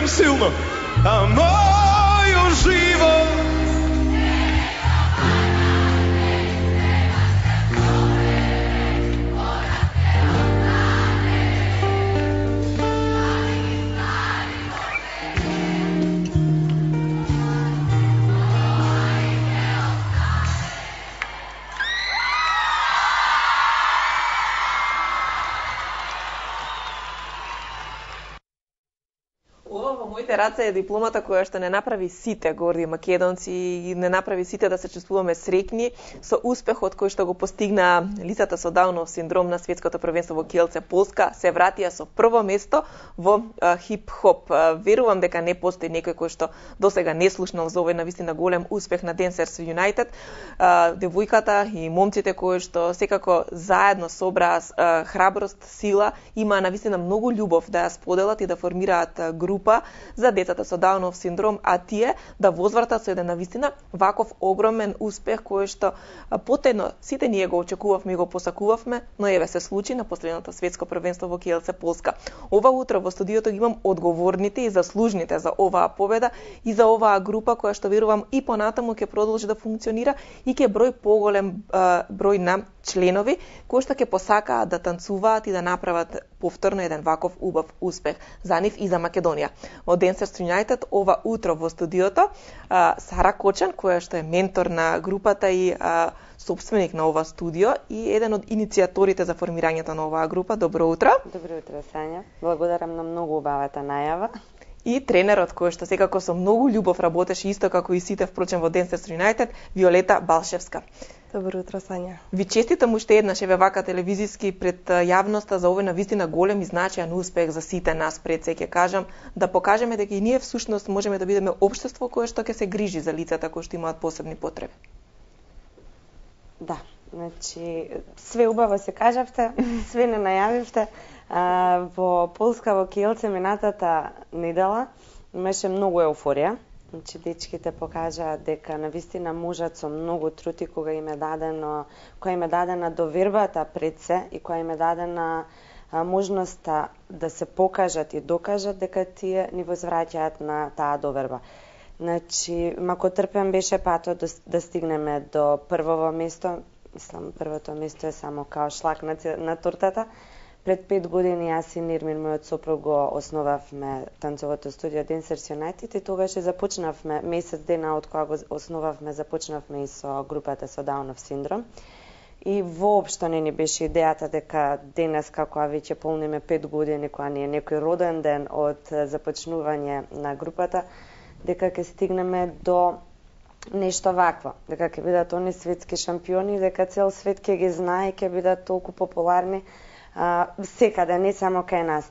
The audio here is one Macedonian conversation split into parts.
кажем силно, а мојот живот раце е дипломата која што не направи сите горди македонци и не направи сите да се чувствуваме среќни со успехот кој што го постигна лицата со Даунов синдром на светското првенство во Kielce, Полска, се вратија со прво место во хип-хоп. Верувам дека не постои некој кој што досега не слушнал за овој навистина голем успех на Dancers United. Девојката и момците кои што секако заедно собраа храброст, сила, има навистина многу љубов да ја споделат и да формираат група за децата со Даунов синдром, а тие да возвратат со еден навистина ваков огромен успех кој што потедно сите ние го очекувавме и го посакувавме, но еве се случи на последното светско првенство во Kielce, Полска. Ова утро во студиото ги имам одговорните и заслужните за оваа победа и за оваа група која што верувам и понатаму ќе продолжи да функционира и ќе број поголем број на членови кои што ќе посакаат да танцуваат и да направат повторно еден ваков убав успех за нив и за Македонија. Во Dancers United ова утро во студиото Сара Кочан, која што е ментор на групата и собственик на ова студио и еден од иницијаторите за формирањето на оваа група. Добро утро. Добро утро, Сања. Благодарам на многу убавата најава. И тренерот кој што секако со многу љубов работеше исто како и сите впрочем во Dancers United, Виолета Балшевска. Добро утро, Сања. Ви честитам уште еднаш еве вака телевизиски пред јавноста за овој навистина голем и значаен успех за сите нас. Пред се ќе кажам да покажеме дека и ние всушност можеме да бидеме општество кое што ќе се грижи за лицата кои што имаат посебни потреби. Да, значи све убаво се кажавте, све не најавивте. Во Полска, во Kielce минатата недела имаше многу еуфорија. Значи, дечките покажаа дека навистина можат со многу труд и која им е дадена довербата пред се и која им е дадена можноста да се покажат и докажат дека тие ни возвраќаат на таа доверба. Значи, мако трпен беше патот да стигнеме до првово место, мислам, првото место е само као шлак на тортата. Пред 5 години јас и Нирмин, мојот сопруг, го основавме танцовото студио Dancers United и тогаш започнавме, месец дена од кога го основавме, започнавме и со групата со Даунов синдром. И воопшто не ни беше идејата дека денес, како веќе полниме 5 години, кога ни е некој роден ден од започнување на групата, дека ќе стигнеме до нешто вакво, дека ќе бидат они светски шампиони, дека цел свет ќе ги знае и ќе бидат толку популарни секаде, не само кај нас.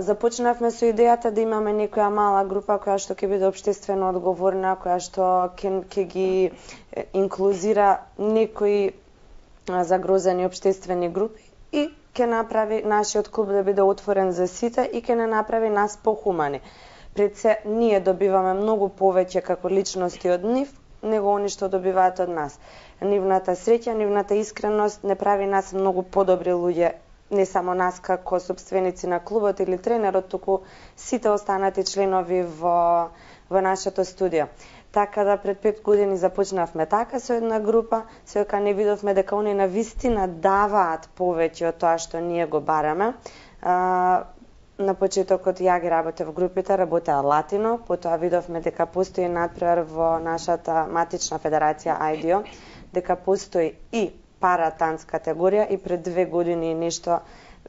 Започнавме со идејата да имаме некоја мала група која што ќе биде општествено одговорна, која што ќе ги инклузира некои загрозени општествени групи и ќе направи нашиот клуб да биде отворен за сите и ќе не направи нас похумани. Пред се ние добиваме многу повеќе како личности од нив, него они што добиваат од нас. Нивната среќа, нивната искреност не прави нас многу подобри луѓе, не само нас како собственици на клубот или тренерот, туку сите останати членови во нашето студио. Така да пред 5 години започнавме така со една група, се дека не видовме дека они навистина даваат повеќе од тоа што ние го бараме. На почетокот ја ги работев в групите, работеа Латино, потоа видовме дека постои надпревар во нашата матична федерација IDO, дека постои и паратанц категорија и пред 2 години нешто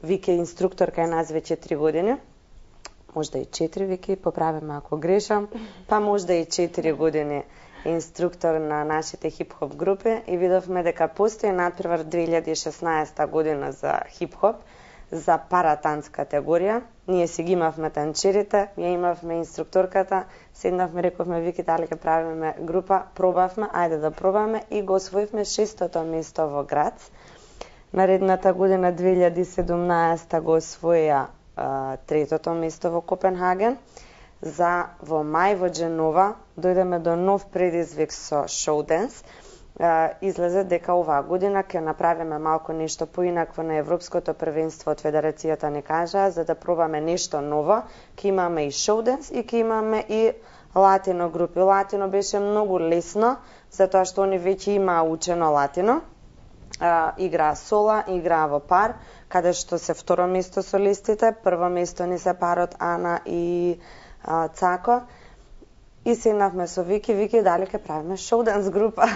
Вики инструктор кај нас веќе 3 години. Можда и 4 Вики, поправиме ако грешам, па можда и 4 години инструктор на нашите хип-хоп групи и видовме дека постои надпревар 2016 година за хип-хоп, за паратанц категорија. Ние си ги имавме танчерите, ја имавме инструкторката, седнавме, рековме Вики дали ќе правиме група, пробавме, ајде да пробаме и го освоивме 6-то место во град. Наредната година 2017 го освоја 3-то место во Копенхаген. За во мај во Дженова дојдеме до нов предизвик со шоуденс излезе дека оваа година ќе направиме малку нешто поинакво на Европското првенство од Федерацијата ни кажа, за да пробаме нешто ново. Ќе имаме и шоуденс и ќе имаме и латино групи. Латино беше многу лесно, затоа што они веќе имаа учено латино. Играа сола, играа во пар, каде што се второ место солистите, прво место ни се парот Ана и Цако. И седнавме со Вики, дали ќе правиме шоуданс група.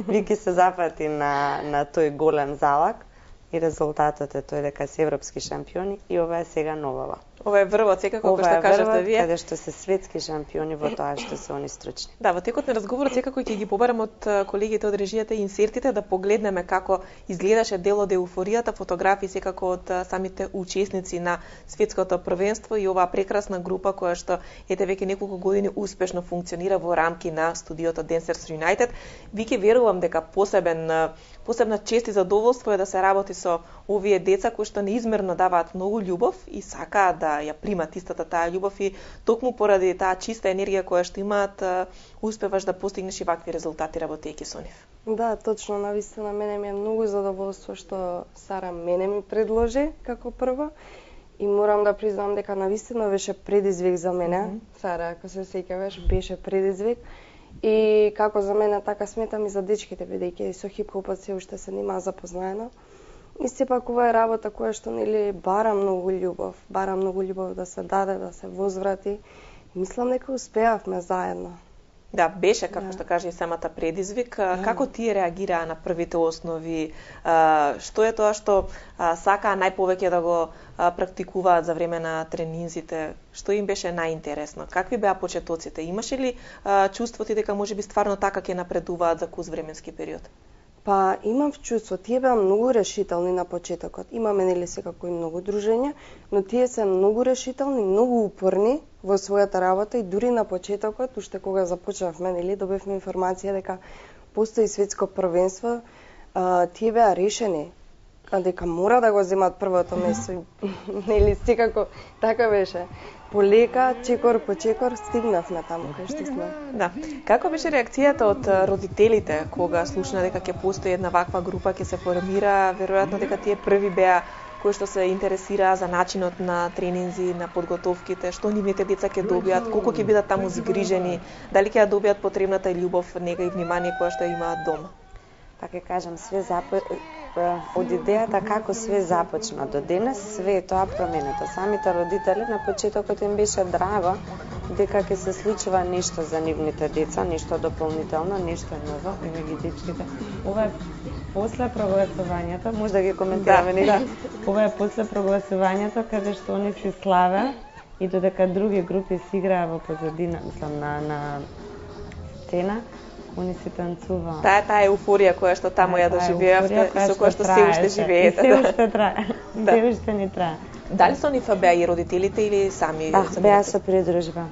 Вики се запати на тој голем залак и резултатот е тој дека се европски шампиони и ова е сега новава. Ова е врвот, секако, како што кажавте вие. Каде што се светски шампиони во тоа што се они стручни. Да, во текот на разговорот секако ќе ги побарам од колегите од режијата и инсертите да погледнеме како изгледаше дел од еуфоријата, фотографии секако од самите учесници на светското првенство и оваа прекрасна група која што ете веќе неколку години успешно функционира во рамки на студиото Dancers United. Вики, верувам дека посебна чест и задоволство е да се работи со овие деца кои што неизмерно даваат многу љубов и сакаат да ја примат истата таа љубов и токму поради таа чиста енергија која што имаат успеваш да постигнеш и вакви резултати работејќи со нив. Да, точно, навистина мене ми е многу задоволство што Сара мене ми предложи како прво и морам да признам дека навистина беше предизвик за мене. Сара, ако се сеќаваш, беше предизвик. И како за мене, така сметам и за дечките, бидејќи со хип-хопот се уште се нема запознаено. И сепак ова е работа која што нели бара многу љубов да се даде, да се возврати. И мислам дека успеавме заедно. Да, беше, како што кажа и самата предизвик. Како тие реагираа на првите основи? Што е тоа што сакаа најповеќе да го практикуваат за време на тренинзите? Што им беше најинтересно? Какви беа почетоците? Имаше ли чувство ти дека можеби стварно така ќе напредуваат за куз временски период? Па имам чувство, тие беа многу решителни на почетокот. Имаме нели секако и многу дружења, но тие се многу решителни, многу упорни во својата работа и дури на почетокот, уште кога започнавме, нели добивме информација дека постои светско првенство, тие беа решени дека мора да го земат првото место. Нели секако така беше. Полека, чекор по чекор, стигнавме таму кај што сме. Да. Како беше реакцијата од родителите кога слушна дека ќе постои една ваква група, ќе се формира? Веројатно дека тие први беа кои што се интересираа за начинот на тренинзи, на подготовките, што нивните деца ќе добијат, колку ќе бидат таму згрижени, дали ќе ја добијат потребната љубов, нега и внимание која што имаат дома. Па ќе кажам, од идејата како све започна до денес, све е тоа променето. Самите родители на почетокот им беше драго дека ќе се случува нешто за нивните деца, нешто дополнително, нешто ново, еве ги дечките. Ова е после прогласувањето, може да ги коментираме нели? Ова е после прогласувањето каде што они се славе и додека други групи си играа во позадина, мислам на сцена. Они се танцуваа. Таа еуфорија која што таму ја доживеавте и со која што се уште живеете. Се уште трае. Се уште ни трае. Дали со нив беа и родителите или сами? Да, беа со придружба.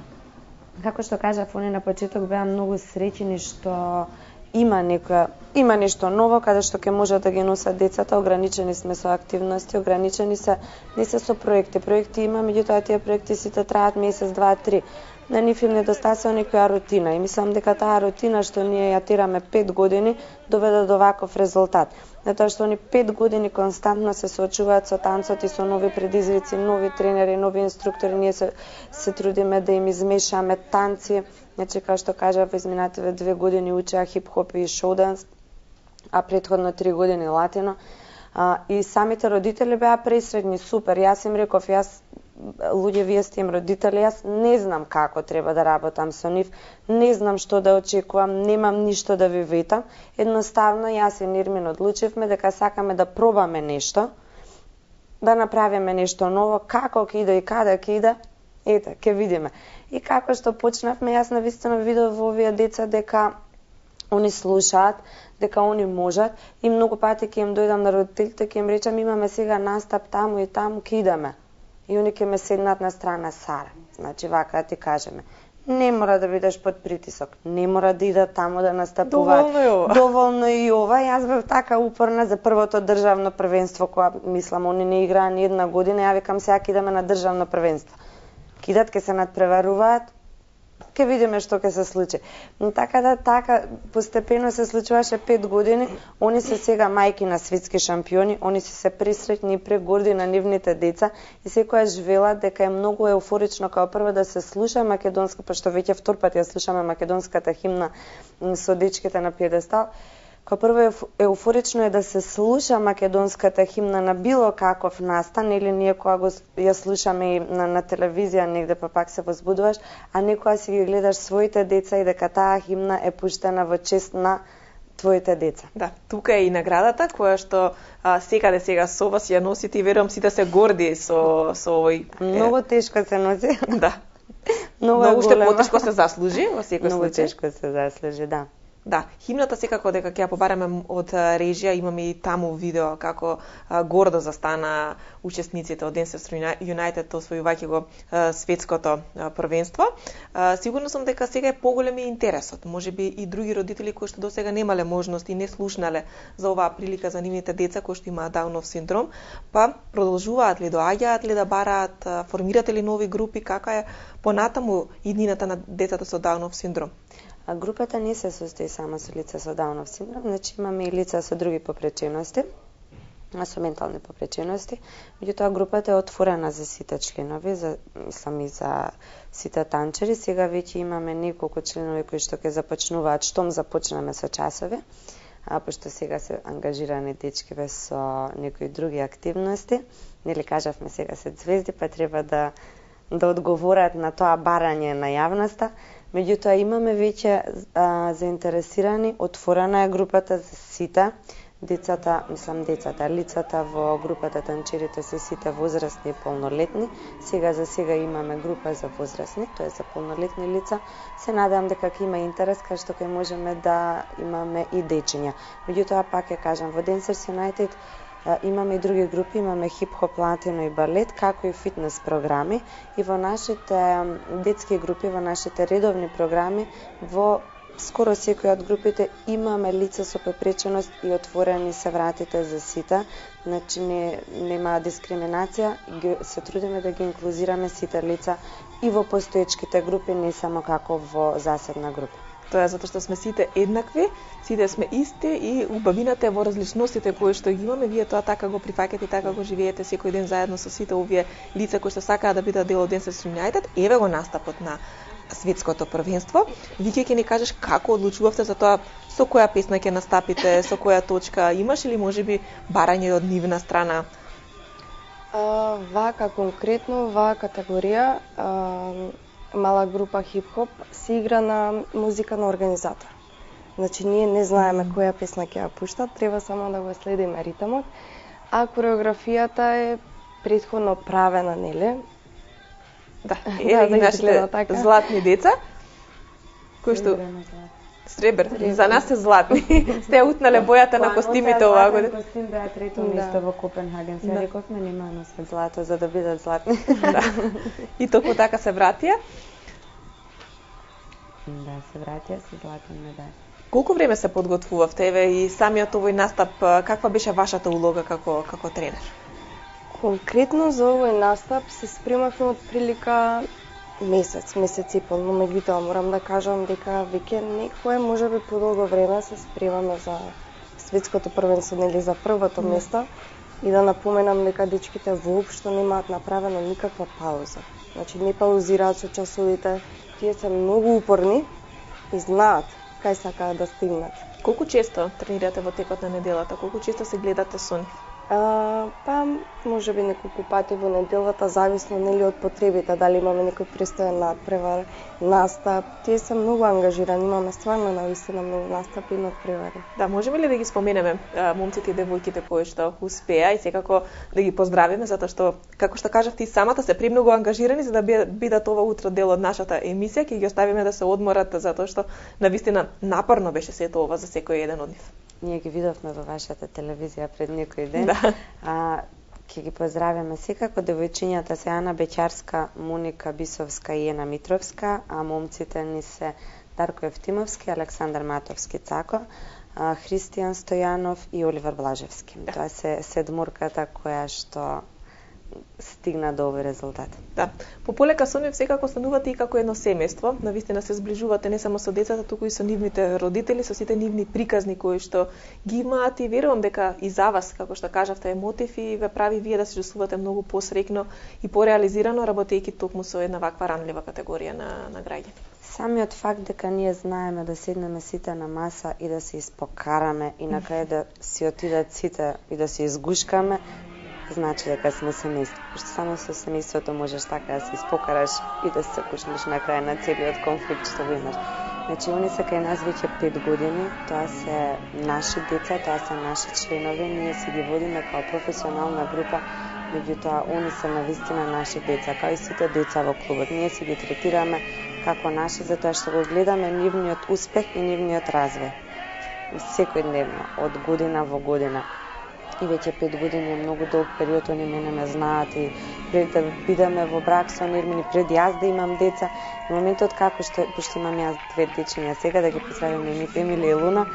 Како што кажав, они на почеток беа многу среќни што има нешто ново каде што ќе можат да ги носат децата. Ограничени сме со активности, ограничени се не се со проекти. Проекти има, меѓутоа тие проекти сите траат месец, 2, 3. На нив им недостасува некоја рутина и мислам дека таа рутина што ние ја тераме 5 години доведе до ваков резултат. Затоа што они 5 години константно се соочуваат со танцот и со нови предизвици, нови тренери, нови инструктори. Ние се трудиме да им измешаме танци. Значи, како што кажав, изминативе 2 години учеа хип-хоп и шоуданс, а претходно 3 години латино. И самите родители беа пресредни, супер. Јас им реков, луѓе, вие сте им родители, јас не знам како треба да работам со нив, не знам што да очекувам, немам ништо да ви ветам. Едноставно, јас и Нирмин одлучивме дека сакаме да пробаме нешто, да направиме нешто ново, како ќе иде и каде ќе иде, ете, ќе видиме. И како што почнавме, јас навистина видов во овие деца дека они слушаат, дека они можат и многу пати ќе им дојдам на родителите, ќе им речам имаме сега настап таму и таму, ќе идеме. И они ќе ме седнат на страна Сара. Значи, вака ти кажеме. Не мора да бидеш под притисок. Не мора да идат таму да настапуваат. Доволно и ова. Доволно и ова. Јас бев така упорна за првото државно првенство, кога, мислам, они не играа ни една година. Ја викам, сега ќе идеме на државно првенство. Кидат, ќе се надпреваруваат. Ке видиме што ќе се случи. Но така постепено се случуваше 5 години. Они се сега мајки на светски шампиони, они се пресреќни и прегорди на нивните деца и секојаш велат дека е многу еуфорично као прво да се слуша македонска, пошто веќе втор пат ја слушаме македонската химна со дечките на пиедестал. Као прво еуфорично е да се слуша македонската химна на било каков настан, или ние кога ја слушаме и на телевизија негде, па пак се возбудуваш, а не кога си ги гледаш своите деца и дека таа химна е пуштена во чест на твоите деца. Да, тука е и наградата која што секаде сега со вас ја носите и верувам сите се горди со овој. Многу тешко се носи. Да. Многу уште потешко се заслужи во секој случај. Многу тешко се заслужи, да. Да, химната секако дека ќе ја побараме од режија, имаме и таму видео како гордо застана учесниците од Dancers United освојувајќи го светското првенство. Сигурно сум дека сега е поголем интересот. Можеби и други родители кои што досега немале можност и не слушнале за оваа прилика за нивните деца кои што имаат Даунов синдром, па продолжуваат ли, доаѓаат ли да бараат, формирате ли нови групи, кака е понатаму иднината на децата со Даунов синдром? А групата не се состои само со лица со Даунов синдром, значи имаме и лица со други попречености, со ментални попречености. Меѓутоа групата е отворена за сите членови, за сите танчери. Сега веќе имаме неколку членови кои што ќе започнуваат штом започнеме со часови, пошто сега се ангажирани дечкиве со некои други активности. Нели кажавме сега се звезди, па треба да одговорат на тоа барање на јавноста. Меѓутоа имаме веќе заинтересирани, отворена е групата за сите. Лицата во групата танчерите се сите возрастни и полнолетни. Сега за сега имаме група за возрастни, тоа е за полнолетни лица. Се надевам дека ќе има интерес, кај што ќе можеме да имаме и дечиња. Меѓутоа пак ја кажам, во Dancers United имаме и други групи, имаме хип-хоп, латино и балет, како и фитнес програми. И во нашите детски групи, во нашите редовни програми, во скоро секој од групите имаме лица со попреченост и отворени се вратите за сите. Значи нема дискриминација, се трудиме да ги инклузираме сите лица и во постоечките групи, не само како во заседна група. Тоа е затоа што сме сите еднакви, сите сме исти и убавината е во различностите кои што ги имаме. Вие тоа така го прифаќате и така го живеете секој ден заедно со сите овие лица кои што сакаат да бидат дел од Dancers United. Еве го настапот на светското првенство. Вики ќе ни кажеш како одлучувавте за тоа со која песна ќе настапите, со која точка, имаш или можеби барање од нивна страна? Вака конкретно, ваа категорија, мала група хип-хоп се игра на музика на организатор. Значи ние не знаеме која песна ќе ја пуштат, треба само да го следиме ритмот, а кореографијата е претходно правена, нели? Да, еве ги нашите златни деца, кои што сребрни, за нас се златни. Сте утнале бојата на костимите оваа година. Костим беа трето место во Копенхаген. Се рековме нема носат злато за да бидат златни. Да. И токму така се вратија? Да, се вратија со златни медали. Колку време се подготвувавте, еве и самиот овој настап, каква беше вашата улога како тренер? Конкретно за овој настап се спремавме од прилика месец и пол, но меѓутоа морам да кажам дека веќе некое можеби подолго време се спремаме за светското првенство, нели за првото место, и да напоменам дека дечките воопшто немаат направено никаква пауза. Значи не паузираат со часовите, тие се многу упорни и знаат кај сакаат да стигнат. Колку често тренирате во текот на неделата? Колку често се гледате со нив? Па, можеби неколку пати во неделата, зависно нели од потребите, дали имаме некој престојен надпревар, настап. Тие се многу ангажирани, имаме стварно навистина многу настапи и надпревари. Да, можеме ли да ги споменеме момците и девојките кои што успеа и секако да ги поздравиме, затоа што, како што кажавте, и самата се премногу ангажирани за да бидат ова утро дел од нашата емисија, ќе ги оставиме да се одморат, затоа што навистина напорно беше сето ова за секој еден од нив. Ние ги видовме во вашата телевизија пред некој ден. Да. Ќе ги поздравиме секако девојчињата се Ана Беќарска, Моника Бисовска и Ена Митровска, а момците ни се Дарко Евтимовски, Александар Матовски Цако, Христијан Стојанов и Оливер Блажевски. Да. Тоа се седморката која што стигна до овој резултат. Да. Пополека со нив секако станувате и како едно семејство, навистина се зближувате не само со децата, туку и со нивните родители, со сите нивни приказни кои што ги имаат и верувам дека и за вас, како што кажавте, е мотив и ве прави вие да се чувствувате многу посрекно и пореализирано работејќи токму со една ваква ранлива категорија на граѓани. Самиот факт дека ние знаеме да седнеме сите на маса и да се испокараме и на крај да си отидат сите и да се изгушкаме, значи дека сме семејство. Пошто само со семејството можеш така да се испокараш и да се кушнеш на крај на целиот конфликт што го имаш. Значи, они се кај нас веќе 5 години, тоа се наши деца, тоа се наши членови, ние си ги водиме као професионална група, меѓутоа они се навистина наши деца, као и сите деца во клубот. Ние си ги третираме како наши, затоа што го гледаме нивниот успех и нивниот развој. Секојдневно, од година во година. И веќе 5 години е многу долг период, они мене ме знаат и пред да бидеме во брак со Нирмини, пред јас да имам деца, и моментот како што, пошто имам јас 2 дечиња сега, да ги поздравим Емилија и Луна,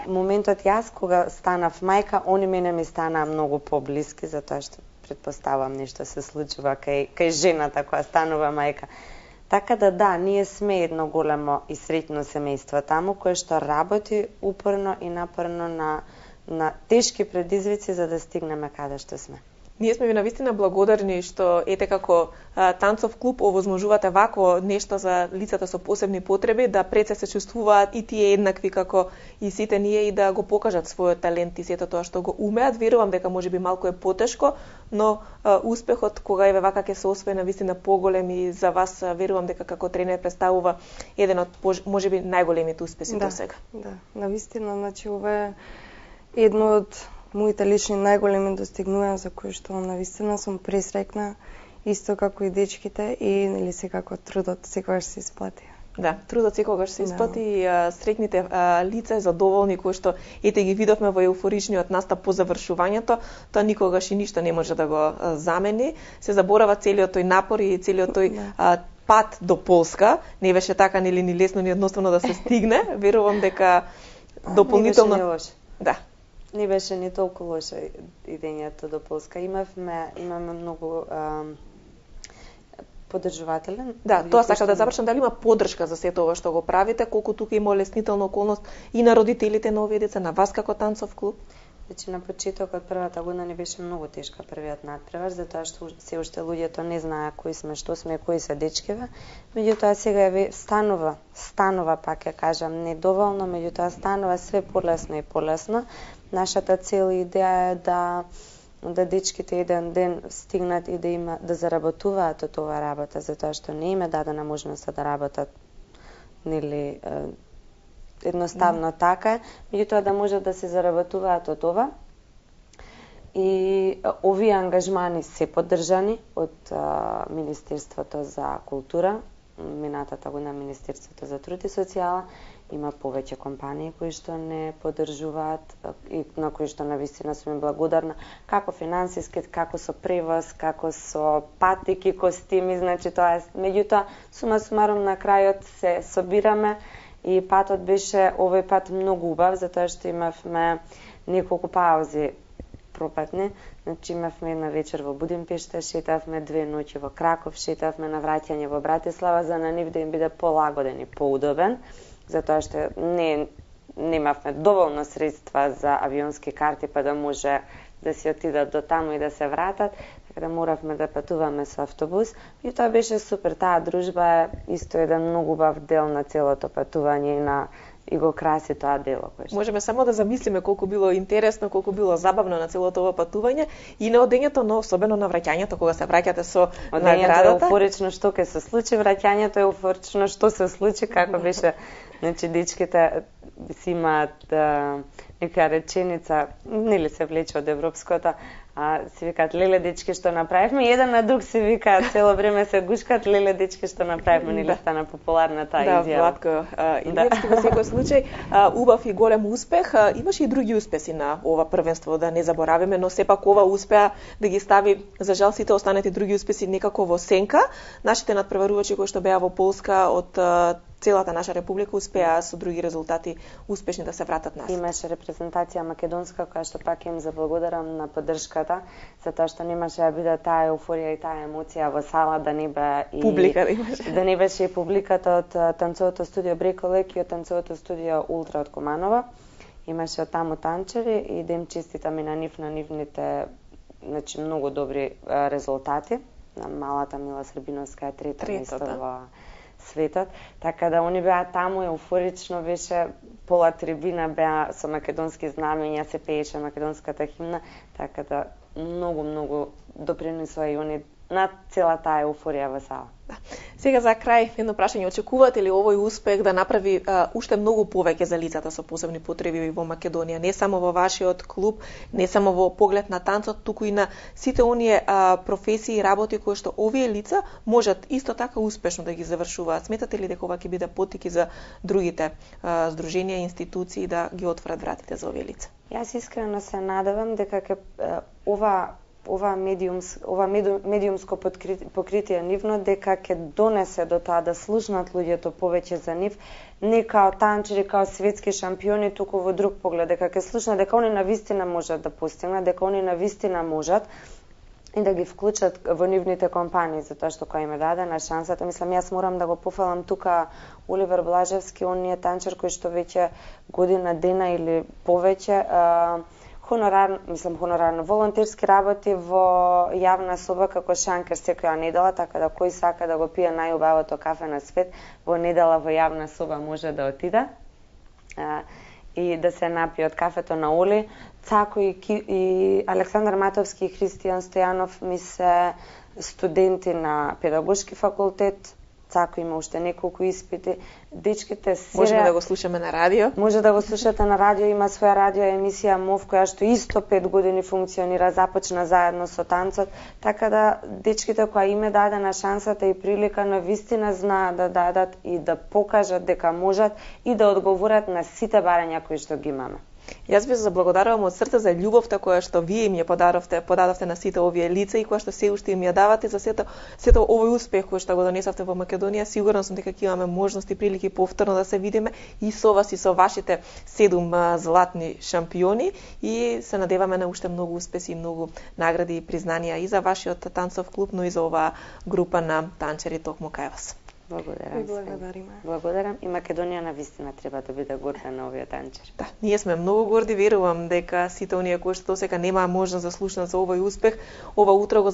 моментот јас кога станав мајка, они мене ми станаа многу поблиски, затоа што предпоставам нешто се случува кај жената која станува мајка. Така да, ние сме едно големо и среќно семејство таму, кое што работи упорно и напорно на тешки предизвици за да стигнеме каде што сме. Ние сме ви навистина благодарни што ете како танцов клуб овозможувате вакво нешто за лицата со посебни потреби, да пред се чувствуваат и тие еднакви како и сите ние и да го покажат својот талент и сето тоа што го умеат. Верувам дека можеби малку е потешко, но успехот кога еве вака ќе се освои навистина поголем и за вас верувам дека како тренер представува еден од можеби најголемите успеси до сега. Да, навистина, значи ова е едно од моите лични најголеми достигнувања за кои што навистина сум пресрекна, исто како и дечките, и нели секако трудот секогаш се исплати. Да, трудот секогаш се исплати и среќните лица задоволни кои што ете ги видовме во еуфоричниот настап по завршувањето, тоа никогаш и ништо не може да го замени. Се заборава целиот тој напор и целиот тој пат до Полска. Не беше така нели ни лесно ни едноставно да се стигне. Верувам дека дополнително Не беше лошо. Да. Не беше ни толку лошо идењето до Полска. Имаме многу поддржуватели. Да, тоа сакав да завршам, дали има поддршка за сето ова што го правите, колку тука има олеснителна околност и на родителите на овие деца, на вас како танцов клуб? Значи на почетокот првата година не беше многу тешка првиот надпревар, затоа што се уште луѓето не знаеа кои сме, што сме, кои се дечкиве. Меѓутоа сега станува, пак ја кажам, недоволно, меѓутоа станува све полесно и полесно. Нашата цел и идеја е да дечките еден ден стигнат и да заработуваат од оваа работа, затоа што не им е дадена можност да работат нели едноставно така, меѓутоа да можат да се заработуваат од ова. И овие ангажмани се поддржани од Министерството за култура, минатата година Министерството за труд и социјала. Има повеќе компании кои што не поддржуваат и на кои што навистина сум им благодарна, како финансиски, како со превоз, како со патики, костими, значи тоа е. Меѓутоа, сума сумарум на крајот се собираме и патот беше овој пат многу убав, затоа што имавме неколку паузи пропатни. Значи имавме една вечер во Будимпешта, шетавме 2 ноќи во Краков, шетавме на враќање во Братислава, за на нив да им биде полагоден и поудобен, затоа што немавме доволно средства за авионски карти па да може да си отидат до таму и да се вратат, така да моравме да патуваме со автобус. И тоа беше супер, таа дружба е исто еден многу убав дел на целото патување и го краси тоа дело. Можеме само да замислиме колку било интересно, колку било забавно на целото ова патување и на одењето, но особено на враќањето, кога се враќате со наградата. Одењето е еуфорично што ќе се случи, враќањето е еуфорично што се случи, како беше. Значи, дечките си имаат нека реченица, нели се влече од европското, си викаат леле дечки што направивме, и еден на друг си викаат цело време се гушкат леле дечки што направивме, нели стана популарна таа изјава. Да, Владко Илиевски во секој случај убав и голем успех. Имаше и други успеси на ова првенство, да не заборавиме, но сепак ова успеа да ги стави, за жал сите останати други успеси некако во сенка. Нашите надпреварувачи кои што беа во Полска од целата наша република успеа со други резултати успешни да се вратат назад. Имаше репрезентација македонска, која што пак им заблагодарам на поддршката, затоа што немаше да биде таа еуфорија и таа емоција во сала да не бе и публика да имаше. Да не беше и публиката од танцовото студио Бреколек и од танцовото студио Ултра од Куманова. Имаше од таму танчери и да им честитам и на нивните значи многу добри резултати. На малата Мила Србиновска е трета место во светот, така да они беа таму, еуфорично беше, пола трибина беа со македонски знамења, се пееше македонската химна, така да многу допринесоа и они на цела таа еуфорија во сала. Да. Сега за крај едно прашање, очекувате ли овој успех да направи уште многу повеќе за лицата со посебни потреби во Македонија, не само во вашиот клуб, не само во поглед на танцот, туку и на сите оние професии и работи кои што овие лица можат исто така успешно да ги завршуваат? Сметате ли дека ова ќе биде поттик за другите здруженија и институции да ги отворат вратите за овие лица? Јас искрено се надевам дека ова медиумско покритие нивно дека ќе донесе до тоа да слушнат луѓето повеќе за нив, не као танчери, као светски шампиони, туку во друг поглед, дека ќе слушнат дека они навистина можат да постигнат, дека они навистина можат и да ги вклучат во нивните компании, затоа што кој им е дадена шансата. Мислам, јас морам да го пофалам тука Оливер Блажевски, он е танчер кој што веќе година дена или повеќе хонорарно, волонтерски работи во јавна соба како шанкер секоја недела, така да кој сака да го пие најубавото кафе на свет, во недела во јавна соба може да отиде и да се напие од кафето на Оли. Цако и Александар Матовски и Христијан Стојанов ми се студенти на педагошки факултет. Цако има уште неколку испити. Дечките се можеме да го слушаме на радио. Може да го слушате на радио, има своја радио емисија МОВ која што исто 5 години функционира, започна заедно со танцот, така да дечките кои им е дадена шансата и прилика навистина знаат да дадат и да покажат дека можат и да одговорат на сите барања кои што ги имаме. Јас ви заблагодарувам од срце за љубовта која што вие им ја подадовте на сите овие лица и која што се уште им ја давате за сето овој успех кој што го донесовте во Македонија. Сигурно сум дека ќе имаме можности и прилики повторно да се видиме и со вас и со вашите 7 златни шампиони и се надеваме на уште многу успеси и многу награди и признанија и за вашиот танцов клуб, но и за оваа група на танчери токму кај вас. Благодарам и Македонија навистина треба да биде горда на овие танчери. Да, ние сме многу горди, верувам дека сите оние кои што досега немаа можност да слушнат за овој успех, ова утро го